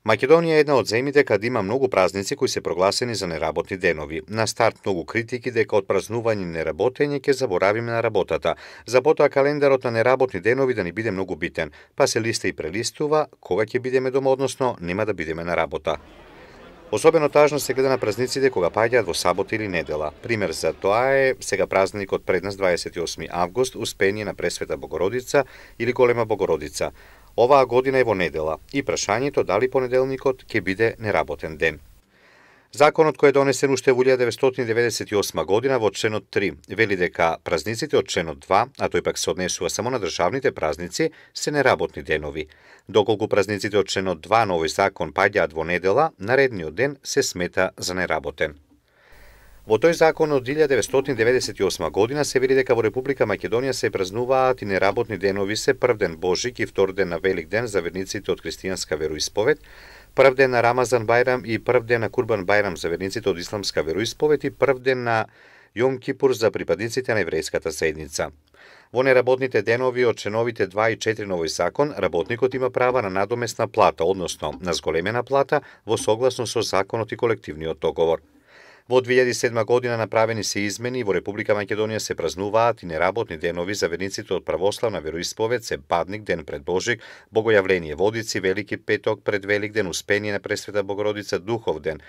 Македонија е една од земјите каде има многу празници кои се прогласени за неработни денови. На старт многу критики дека од празнување и неработење ќе заборавиме на работата. За потоа календарот на неработни денови да ни биде многу битен, па се листа и прелистува кога ќе бидеме дома, односно нема да бидеме на работа. Особено тажно се гледа на празниците кога паѓаат во сабота или недела. Пример за тоа е сега празникот пред нас 28 август, Успение на Пресвета Богородица или Голема Богородица. Оваа година е во недела и прашањето дали понеделникот ќе биде неработен ден. Законот кој е донесен уште во 1998 година во членот 3 вели дека празниците од членот 2, а тој пак се однесува само на државните празници, се неработни денови. Доколку празниците од членот 2 на овој закон паѓаат во недела, наредниот ден се смета за неработен. Во тој закон од 1998 година се вели дека во Република Македонија се празнуваат и неработни денови се прв ден Божик и втор ден на Велик ден за верниците од христијанска вероисповед, прв ден на Рамазан Бајрам и прв ден на Курбан Бајрам за верниците од исламска вероисповед и прв ден на Јом Кипур за припадниците на еврејската заедница. Во неработните денови од членовите 2 и 4 на овој закон, работникот има права на надомесна плата, односно на зголемена плата во согласно со законот и колективниот договор. Во 2007 година направени се измени и во Република Македонија се празнуваат и неработни денови за верниците од православна вероисповед се Бадник, ден пред Божик, Богојавление Водици, Велики петок пред Велик ден, Успение на Пресвета Богородица, Духов ден,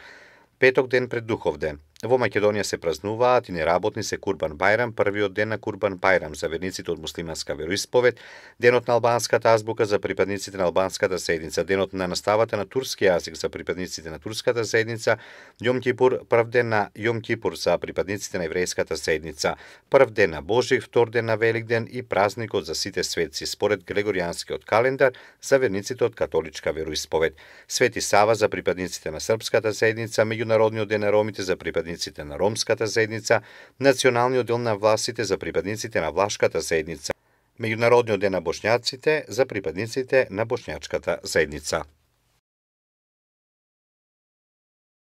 Петок ден пред Духов ден. Во Македонија се празнуваат и неработни се Курбан Бајрам, првиот ден на Курбан Бајрам за верниците од муслиманска вероисповед, денот на албанската азбука за припадниците на албанската заедница, денот на наставата на турски јазик за припадниците на турската заедница, Јом Кипур, прв ден на Јом Кипур за припадниците на еврејската заедница, прв ден на Божик, втор ден на Велик ден и празникот за сите светци според Грегоријанскиот календар за верниците од католичка вероисповед, Свети Сава за припадниците на српската заедница, меѓународниот ден на ромите за припадниците на ромската заедница, Националниот ден на власите за припадниците на влашката заедница, Меѓународниот ден на бошњаците за припадниците на бошњачката заедница.